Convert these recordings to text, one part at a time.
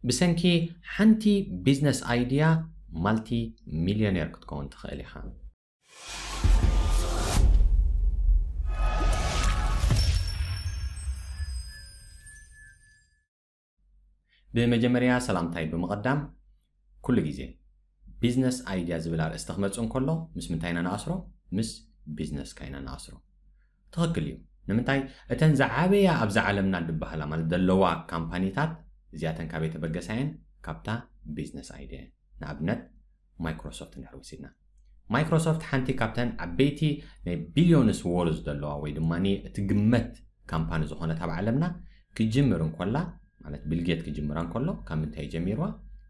ብሰንኪ ሓንቲ ቢዝነስ ኣይድያ ማልቲ ሚልዮኔር ክትከውን ትኽእል ኢኻ። ብመጀመርያ ሰላምታይ ብምቕዳም፣ ኩሉ ግዜ ቢዝነስ ኣይድያ ዝብል ኣርእስቲ ክመጽእ እንከሎ ምስ ምንታይ ኢና ንኣስሮ? ምስ ቢዝነስካ ኢና ንኣስሮ። ትኽክል እዩ። ንምንታይ? እተን ዝዓበያ ኣብዛ ዓለምና ዝበሃላ ማለት ዘለዋ ካምፓኒታት እዚኣተን ካበይ ተበገሳ እየን? ካብታ ቢዝነስ ኣይድያ እየን። ንኣብነት ማይክሮሶፍት እንድሕር ወሲድና፣ ማይክሮሶፍት ሓንቲ ካብተን ዓበይቲ ናይ ቢልዮንስ ወርዝ ዘለዋ ወይ ድማ እቲ ግመት ካምፓኒ ዝኾነት ኣብ ዓለምና ክጅምር እንኮላ ማለት ቢልጌት ክጅምራ እንከሎ ካብ ምንታይ ጀሚርዋ?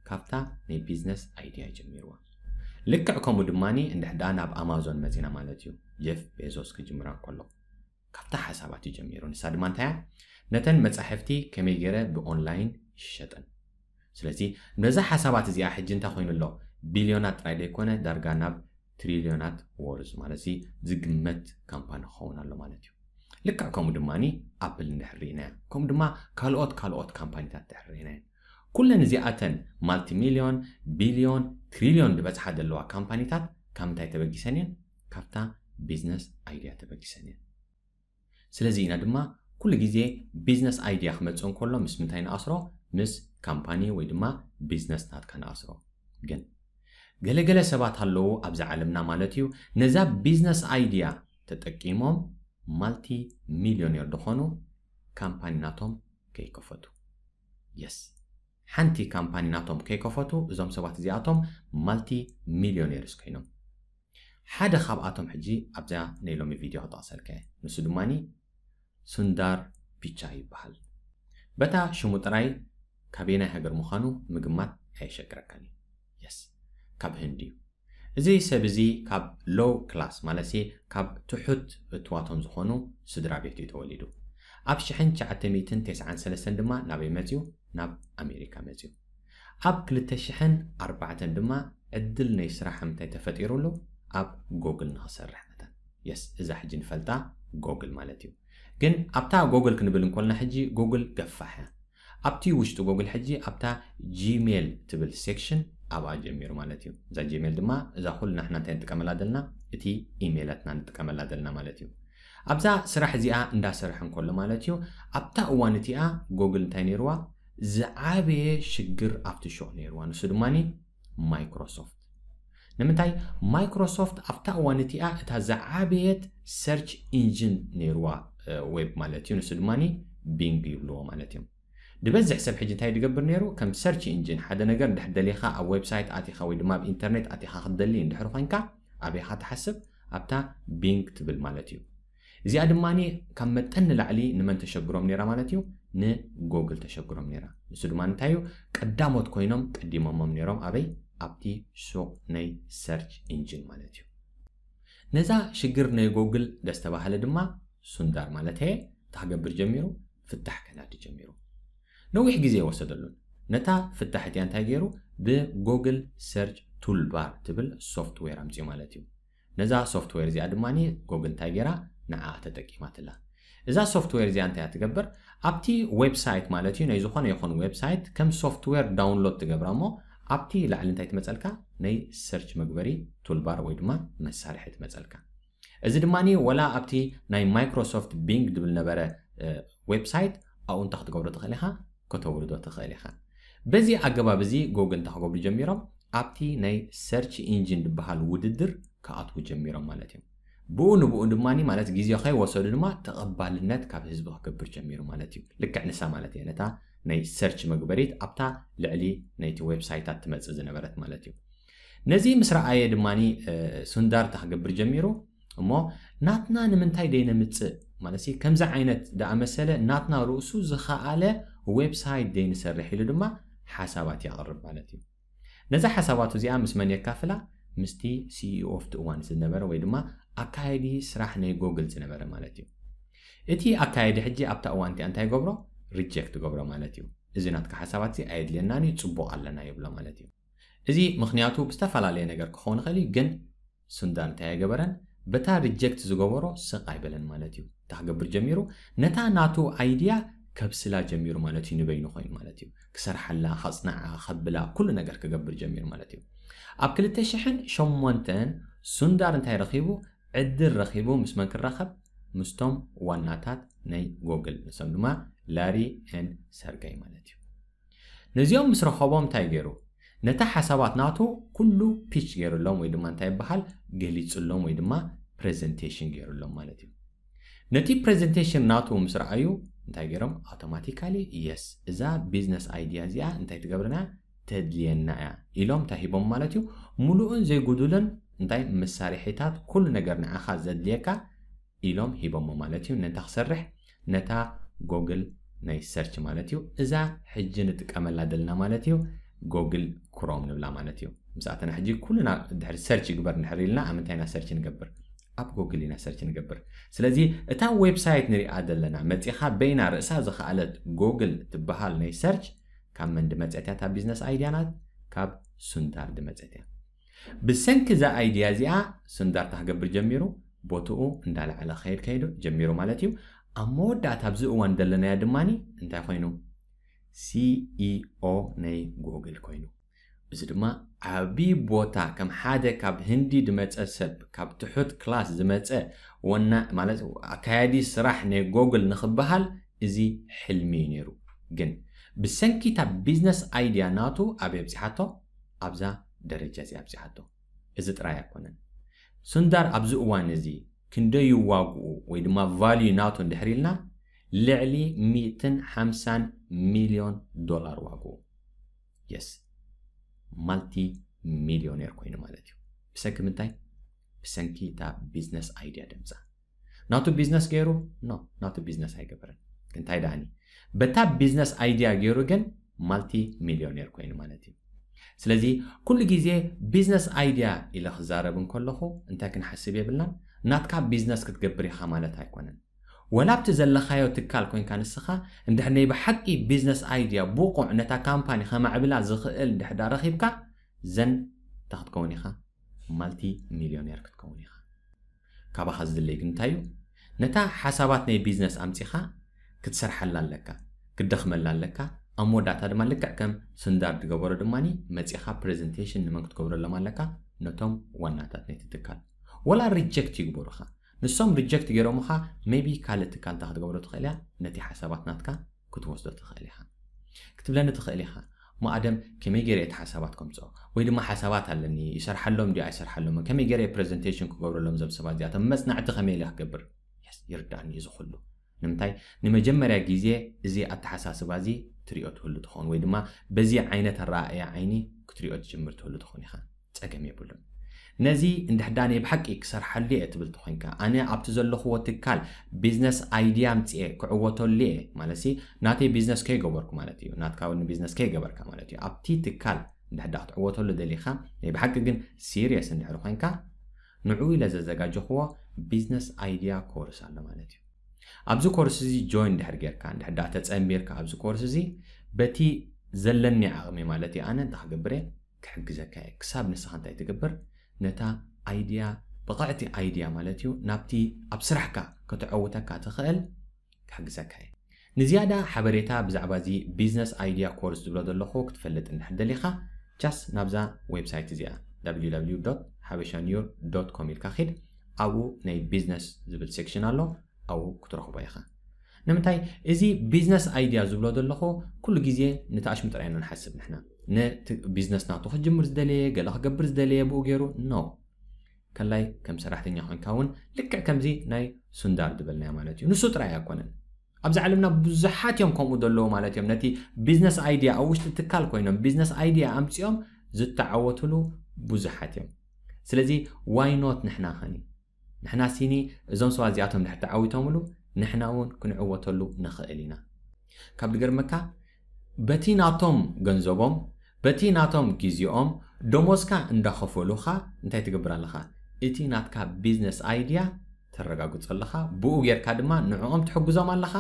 ካብታ ናይ ቢዝነስ ኣይድያ ጀሚርዋ። ልክዕ ከምኡ ድማ እንድሕር ደኣ ናብ ኣማዞን መጺና ማለት እዩ። ጀፍ ቤዞስ ክጅምራ እንከሎ ካብታ ሓሳባት እዩ ጀሚሩ። ንሳ ድማ እንታይ እያ? ነተን መጻሕፍቲ ከመይ ገይረ ብኦንላይን ይሸጠን። ስለዚ ነዛ ሓሳባት እዚኣ ሕጂ እንታይ ኮይኑ ኣሎ? ቢልዮናት ጥራይ ዘይኮነ ዳርጋ ናብ ትሪልዮናት ወርዝ ማለት እዚ ዝግመት ካምፓኒ ክኸውን ኣሎ ማለት እዩ። ልክዕ ከምኡ ድማ ኣፕል እንድሕር ርኢናያ፣ ከምኡ ድማ ካልኦት ካልኦት ካምፓኒታት እንድሕር ርኢናያ፣ ኩለን እዚኣተን ማልቲ ሚልዮን፣ ቢልዮን፣ ትሪልዮን ዝበጽሓ ዘለዋ ካምፓኒታት ካብ ምንታይ ተበጊሰን እየን? ካብታ ቢዝነስ ኣይድያ ተበጊሰን እየን። ስለዚ ኢና ድማ ኩሉ ግዜ ቢዝነስ ኣይድያ ክመጽእ እንከሎ ምስ ምንታይ ንኣስሮ? ምስ ካምፓኒ ወይ ድማ ቢዝነስ ናትካ ንኣስሮ። ግን ገለገለ ሰባት ኣለዉ ኣብዚ ዓለምና ማለት እዩ፣ ነዛ ቢዝነስ ኣይድያ ተጠቂሞም ማልቲ ሚልዮኔር ዝኾኑ ካምፓኒ ናቶም ከይከፈቱ። የስ፣ ሓንቲ ካምፓኒ ናቶም ከይከፈቱ እዞም ሰባት እዚኣቶም ማልቲ ሚልዮኔርስ ኮይኖም። ሓደ ካብኣቶም ሕጂ ኣብዛ ናይ ሎሚ ቪድዮ ክጠቕሰልካ እየ። ንሱ ድማኒ ሱንዳር ፒቻይ ይበሃል። በታ ሽሙ ጥራይ ካበየናይ ሃገር ምዃኑ ምግማት ኣየሸግረካን እዩ። የስ፣ ካብ ህንዲ እዩ። እዚ ሰብ እዚ ካብ ሎው ክላስ ማለት ሲ ካብ ትሑት እትዋቶም ዝኾኑ ስድራ ቤት እዩ ተወሊዱ። ኣብ ሽሕን ትሽዓተ ሚእትን ተስዓን ሰለስተን ድማ ናበይ መፅዩ? ናብ ኣሜሪካ መፅዩ። ኣብ ክልተ ሽሕን ኣርባዕተን ድማ ዕድል ናይ ስራሕ ምንታይ ተፈጢሩሉ? ኣብ ጎግል ንኽሰርሕ መጠን። የስ፣ እዛ ሕጂ ንፈልጣ ጎግል ማለት እዩ። ግን ኣብታ ጎግል ክንብል እንኮልና ሕጂ ጎግል ገፋሕ እያ። ኣብቲ ውሽጢ ጎግል ሕጂ ኣብታ ጂሜል ትብል ሴክሽን ኣብኣ ጀሚሩ ማለት እዩ። እዛ ጂሜል ድማ እዛ ኩሉ ንሕና እንታይ ንጥቀመላ ዘለና? እቲ ኢሜይላትና ንጥቀመላ ዘለና ማለት እዩ። ኣብዛ ስራሕ እዚኣ እንዳሰርሐ እንከሎ ማለት እዩ፣ ኣብታ እዋን እቲኣ ጎግል እንታይ ነይርዋ? ዝዓበየ ሽግር ኣብቲ ሹቕ ነይርዋ። ንሱ ድማኒ ማይክሮሶፍት። ንምንታይ? ማይክሮሶፍት ኣብታ እዋን እቲኣ እታ ዝዓበየት ሰርች ኢንጂን ነይርዋ፣ እ፣ ዌብ ማለት እዩ። ንሱ ድማኒ ቢንግ ይብልዎ ማለት እዮም። ዝበዝሕ ሰብ ሕጂ እንታይ ዝገብር ነይሩ? ከም ሰርች ኢንጂን ሓደ ነገር እንድሕር ደሊኻ ኣብ ዌብሳይት ኣቲኻ ወይ ድማ ኣብ ኢንተርኔት ኣቲኻ ክትደሊ እንድሕር ኮይንካ ኣበይኻ ትሓስብ? ኣብታ ቢንግ ትብል ማለት እዩ። እዚኣ ድማኒ ካብ መጠን ንላዕሊ ንመን ተሸግሮም ነይራ ማለት እዩ? ንጎግል ተሸግሮም ነይራ። ንሱ ድማ እንታይ እዩ? ቀዳሞት ኮይኖም ቀዲሞሞም ነይሮም። ኣበይ? ኣብቲ ሱቕ ናይ ሰርች ኢንጂን ማለት እዩ። ነዛ ሽግር ናይ ጎግል ደስተባሃለ ድማ ሱንዳር ማለት እየ እንታይ ክገብር ጀሚሩ? ፍታሕ ከናዲ ጀሚሩ። ነዊሕ ግዜ ይወሰደሉን። ነታ ፍታሕ እቲኣ እንታይ ገይሩ? ብጎግል ሰርች ቱልባር ትብል ሶፍትዌር ኣምፅኡ ማለት እዩ። ነዛ ሶፍትዌር እዚኣ ድማ ጎግል እንታይ ገይራ? ንዓ ተጠቂማትላ። እዛ ሶፍትዌር እዚኣ እንታይ እያ ትገብር? ኣብቲ ዌብሳይት ማለት እዩ፣ ናይ ዝኾነ ይኹን ዌብሳይት ከም ሶፍትዌር ዳውንሎድ ትገብራ እሞ ኣብቲ ላዕሊ እንታይ ትመፀልካ? ናይ ሰርች መግበሪ ቱልባር ወይ ድማ መሳርሒ ትመፀልካ። እዚ ድማ ወላ ኣብቲ ናይ ማይክሮሶፍት ቢንግ ድብል ነበረ፣ እ፣ ዌብሳይት ኣብኡ እንታይ ክትገብሮ ትኽእል ኢኻ? ከተውርዶ ትኽእል ኢኻ። በዚ ኣገባብ እዚ ጎግል እንታይ ክገብሩ ጀሚሮም? ኣብቲ ናይ ሰርች ኢንጂን ዝበሃል ውድድር ክኣትዉ ጀሚሮም ማለት እዮም። ብኡ ንብኡ ድማ ማለት ግዜ ከይወሰዱ ድማ ተቐባልነት ካብ ህዝቢ ክገብር ጀሚሩ ማለት እዩ። ልክዕ ንሳ ማለት እየ ነታ ናይ ሰርች መግበሪት ኣብታ ልዕሊ ናይቲ ዌብሳይታት ትመጽእ ዝነበረት ማለት እዩ። ነዚ ምስ ረኣየ ድማ ሱንዳር እንታይ ክገብር ጀሚሩ? እሞ ናትና ንምንታይ ደይነምጽእ ማለት ከምዚ ዓይነት ደኣ መሰለ ናትና ርእሱ ዝኸኣለ ዌብሳይት ደይንሰርሕ ኢሉ ድማ ሓሳባት የቕርብ ማለት እዩ። ነዛ ሓሳባቱ እዚኣ ምስ መን የካፍላ? ምስቲ ሲኢኦ ኣብቲ እዋን ዝነበረ ወይ ድማ ኣካየዲ ስራሕ ናይ ጎግል ዝነበረ ማለት እዩ። እቲ ኣካየዲ ሕጂ ኣብታ እዋን እቲኣ እንታይ ይገብሮ? ሪጀክት ይገብሮ ማለት እዩ። እዚ ናትካ ሓሳባት እዚ ኣየድልየናን እዩ፣ ጽቡቕ ኣለና ይብሎ ማለት እዩ። እዚ ምኽንያቱ ብዝተፈላለየ ነገር ክኸውን ይኽእል እዩ፣ ግን ሱንዳር እንታይ ኣይገበረን? በታ ሪጀክት ዝገበሮ ስቕ ኣይበለን ማለት እዩ። እንታይ ክገብር ጀሚሩ? ነታ ናቱ ኣይድያ ከብስላ ጀሚሩ ማለት እዩ። ንበይኑ ኮይኑ ማለት እዩ። ክሰርሓላ፣ ከጽንዓ፣ ከብላ፣ ኩሉ ነገር ክገብር ጀሚሩ ማለት እዩ። ኣብ ክልተ ሽሕን ሸሞንተን ሱንዳር እንታይ ረኺቡ? ዕድል ረኺቡ ምስ መን ክራኸብ? ምስቶም ዋናታት ናይ ጎግል፣ ንሶም ድማ ላሪ ኤን ሰርገይ ማለት እዩ። ነዚኦም ምስ ረኸቦም እንታይ ገይሩ? ነታ ሓሳባት ናቱ ኩሉ ፒች ገይሩሎም ወይ ድማ እንታይ ይበሃል? ገሊጹሎም ወይ ድማ ፕሬዘንቴሽን ገይሩሎም ማለት እዩ። ነቲ ፕሬዘንቴሽን ናቱ ምስ ረኣዩ እንታይ ገይሮም? ኣውቶማቲካሊ የስ፣ እዛ ቢዝነስ ኣይዲያ እዚኣ እንታይ ትገብርና? ተድልየና እያ ኢሎም እንታይ ሂቦም ማለት እዩ? ሙሉእን ዘይጉዱልን እንታይ መሳርሒታት፣ ኩሉ ነገር ንዓኻ ዘድልየካ ኢሎም ሂቦሞ ማለት እዩ። ነታ ክሰርሕ ነታ ጎግል ናይ ሰርች ማለት እዩ። እዛ ሕጂ ንጥቀመላ ዘለና ማለት እዩ ጎግል ክሮም ንብላ ማለት እዩ። ምስ ኣተና ሕጂ ኩልና ድሕሪ ሰርች ይግበር እንድሕር ኢልና ኣብ ምንታይ ኢና ሰርች ንገብር? ኣብ ጎግል ኢና ሰርች ንገብር። ስለዚ እታ ዌብሳይት ንሪኣ ዘለና መፂኻ በይና ርእሳ ዝኸኣለት ጎግል ትበሃል ናይ ሰርች ካብ መን ድመፀት እያ? እታ ቢዝነስ ኣይዲያ ናት ካብ ሱንዳር ድመፀት እያ። ብሰንኪ እዛ ኣይዲያ እዚኣ ሱንዳር እንታይ ክገብር ጀሚሩ? ቦትኡ እንዳለዓለ ክኸይድ ከይዱ ጀሚሩ ማለት እዩ። ኣብ መወዳእታ ኣብዚ እዋን ዘለናዮ ድማ እንታይ ኮይኑ? ሲኢኦ ናይ ጎግል ኮይኑ። እዚ ድማ ዓቢ ቦታ ከም ሓደ ካብ ህንዲ ዝመጸ ሰብ፣ ካብ ትሑት ክላስ ዝመጸ ወና ማለት ኣካያዲ ስራሕ ናይ ጎግል ንኽበሃል እዚ ሕልሚ እዩ ነይሩ። ግን ብሰንኪ እታ ቢዝነስ ኣይዲያ ናቱ ኣበይ ኣብጺሓቶ? ኣብዛ ደረጃ እዚኣ ኣብጺሓቶ። እዚ ጥራይ ኣይኮነን። ሱንዳር ኣብዚ እዋን እዚ ክንደይ ዋግኡ ወይ ድማ ቫልዩ ናቱ እንድሕር ኢልና ልዕሊ ሚእትን ሓምሳን ሚልዮን ዶላር ዋግኡ። የስ፣ ማልቲ ሚልዮኔር ኮይኑ ማለት እዩ። ብሰንኪ ምንታይ? ብሰንኪ እታ ቢዝነስ ኣይዲያ ደምፃ። ናቱ ቢዝነስ ገይሩ? ኖ፣ ናቱ ቢዝነስ ኣይገበረን። እንታይ ደኣኒ፣ በታ ቢዝነስ ኣይዲያ ገይሩ ግን ማልቲ ሚልዮኔር ኮይኑ ማለት እዩ። ስለዚ ኩሉ ግዜ ቢዝነስ ኣይዲያ ኢለ ክዛረብ እንከለኹ እንታይ ክንሓስብ የብልናን? ናትካ ቢዝነስ ክትገብር ኢኻ ማለት ኣይኮነን። ወላ ኣብቲ ዘለኻዮ ትካል ኮይንካ ንስኻ እንድሕር ናይ ብሓቂ ቢዝነስ ኣይዲያ ብቑዕ ነታ ካምፓኒ ከማዕብላ ዝኽእል እንድሕር ዳ ረኺብካ ዘን እንታይ ክትከውን ኢኻ? ማልቲ ሚልዮኔር ክትከውን ኢኻ። ካባኻ ዝድለይ ግን እንታይ እዩ? ነታ ሓሳባት ናይ ቢዝነስ ኣምጺኻ ክትሰርሓላ ኣለካ፣ ክትደኽመላ ኣለካ። ኣብ መወዳእታ ድማ ልክዕ ከም ሱንዳር ዝገበሮ ድማ መጺኻ ፕሬዘንቴሽን ንመን ክትገብረሎም ኣለካ? ነቶም ዋናታት ናይቲ ትካል። ወላ ሪጀክት ይግበሩኻ። ንሶም ሪጀክት ገይሮምኻ ሜቢ ካልእ ትካል እንታይ ክትገብሮ ትኽእል እያ? ነቲ ሓሳባት ናትካ ክትወስዶ ትኽእል ኢኻ። ክትብለኒ ትኽእል ኢኻ፣ እሞ ኣደም ከመይ ገይረ እቲ ሓሳባት ከምፅኦ? ወይ ድማ ሓሳባት ኣለኒ፣ ይሰርሓሎም ድዩ ኣይሰርሓሎም? ከመይ ገይረ ፕሬዘንቴሽን ክገብረሎም እዞም ሰባት እዚኣቶም? መፅናዕቲ ከመይ ኢለ ክገብር? የስ፣ ይርዳእኒ እዩ እዚ ኩሉ። ንምንታይ? ንመጀመርያ ግዜ እዚ ኣተሓሳስባ እዚ ትሪኦ ትህሉ ትኸውን፣ ወይ ድማ በዚ ዓይነት ኣረኣእያ ዓይኒ ክትሪኦ ትጅምር ትህሉ ትኸውን ኢኻ። ፀገም የብሉን። ነዚ እንድሕዳ ናይ ብሓቂ ክሰርሓሉ እየ ትብል ተኾይንካ፣ ኣነ ኣብቲ ዘለኽዎ ትካል ቢዝነስ ኣይዲያ ኣምፅኤ ክዕወተሉ እየ ማለት ሲ፣ ናተይ ቢዝነስ ከይገበርኩ ማለት እዩ፣ ናትካ እውን ቢዝነስ ከይገበርካ ማለት እዩ። ኣብቲ ትካል እንድሕዳ ክትዕወተሉ ደሊኻ፣ ናይ ብሓቂ ግን ሲሪየስ እንድሕር ኮይንካ፣ ንዕኡ ኢለ ዘዘጋጀኽዎ ቢዝነስ ኣይዲያ ኮርስ ኣሎ ማለት እዩ። ኣብዚ ኮርስ እዚ ጆይን እንድሕር ጌርካ፣ እንድሕዳ ተፀንቢርካ ኣብዚ ኮርስ እዚ፣ በቲ ዘለኒ ዓቕሚ ማለት እዩ፣ ኣነ እንታይ ክገብር እየ? ክሕግዘካ እየ። ክሳብ ንስኻ እንታይ ትገብር? ነታ ኣይድያ፣ ብቕዕቲ ኣይድያ ማለት እዩ፣ ናብቲ ኣብ ስራሕካ ከተዐውተካ ትኽእል ክሕግዘካ እየ። ንዝያዳ ሓበሬታ ብዛዕባ እዚ ቢዝነስ ኣይድያ ኮርስ ዝብሎ ዘለኹ ክትፈልጥ እንድሕር ደሊኻ፣ ጃስ ናብዛ ዌብሳይት እዚኣ www.habeshanur.com ኢልካ ኺድ። ኣብኡ ናይ ቢዝነስ ዝብል ሴክሽን ኣሎ፣ ኣብኡ ክትረኽቦ ኢኻ። ንምንታይ? እዚ ቢዝነስ ኣይድያ ዝብሎ ዘለኹ፣ ኩሉ ግዜ ነቲ ኣሽሙ ጥራይ ኢና ንሓስብ ንሕና። ነቲ ቢዝነስ ናቱ ክጅምር ዝደለየ፣ ገለ ክገብር ዝደለየ ብኡ ገይሩ፣ ኖ። ከላይ ከም ሰራሕተኛ ኮይንካ እውን ልክዕ ከምዚ ናይ ሱንዳር ዝበልናዮ ማለት እዩ። ንሱ ጥራይ ኣይኮነን። ኣብዚ ዓለምና ብዙሓት እዮም ከምኡ ዘለዉ ማለት እዮም። ነቲ ቢዝነስ ኣይድያ ኣብ ውሽጢ ትካል ኮይኖም ቢዝነስ ኣይድያ ኣምጺኦም ዝተዓወትሉ ብዙሓት እዮም። ስለዚ ዋይ ኖት ንሕና ኸኒ? ንሕና ሲኒ እዞም ሰባት እዚኣቶም ድሕር ተዓዊቶምሉ ንሕና እውን ክንዕወተሉ ንኽእል ኢና። ካብ ድገርመካ፣ በቲ ናቶም ገንዘቦም፣ በቲ ናቶም ግዜኦም ደሞዝካ እንዳኸፈሉኻ እንታይ ትገብር ኣለኻ? እቲ ናትካ ቢዝነስ ኣይድያ ተረጋግጾ ኣለኻ። ብኡ ጌርካ ድማ ንዕኦም ትሕግዞም ኣለኻ፣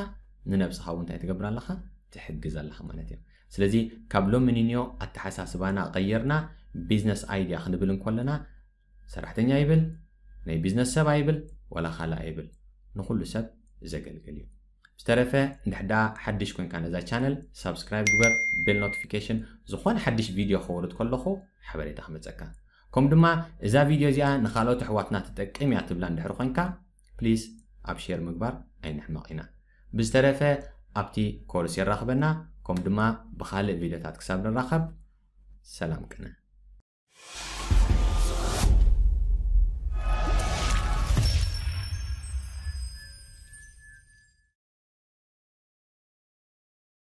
ንነብስኻ እውን እንታይ ትገብር ኣለኻ? ትሕግዝ ኣለኻ ማለት እዩ። ስለዚ ካብ ሎሚ ንንዮ ኣተሓሳስባና ቀይርና ቢዝነስ ኣይድያ ክንብል እንከለና ሰራሕተኛ ይብል፣ ናይ ቢዝነስ ሰብ ኣይብል፣ ዋላ ካልእ ኣይብል፣ ንኹሉ ሰብ ዘገልግል እዩ። ዝተረፈ እንድሕዳ ሓድሽ ኮንካ ነዛ ቻነል ሳብስክራይብ ግበር፣ ቤል ኖቲፊኬሽን፣ ዝኾነ ሓድሽ ቪድዮ ከወርድ ከለኹ ሓበሬታ ክመፀካ። ከም ድማ እዛ ቪድዮ እዚኣ ንኻልኦት ኣሕዋትና ትጠቅም እያ ትብላ እንድሕር ኮንካ ፕሊዝ ኣብ ሼር ምግባር ኣይንሕመቕ ኢና። ብዝተረፈ ኣብቲ ኮርስ የራኽበና። ከም ድማ ብኻልእ ቪድዮታት ክሳብ ንራኸብ ሰላም ቅነ።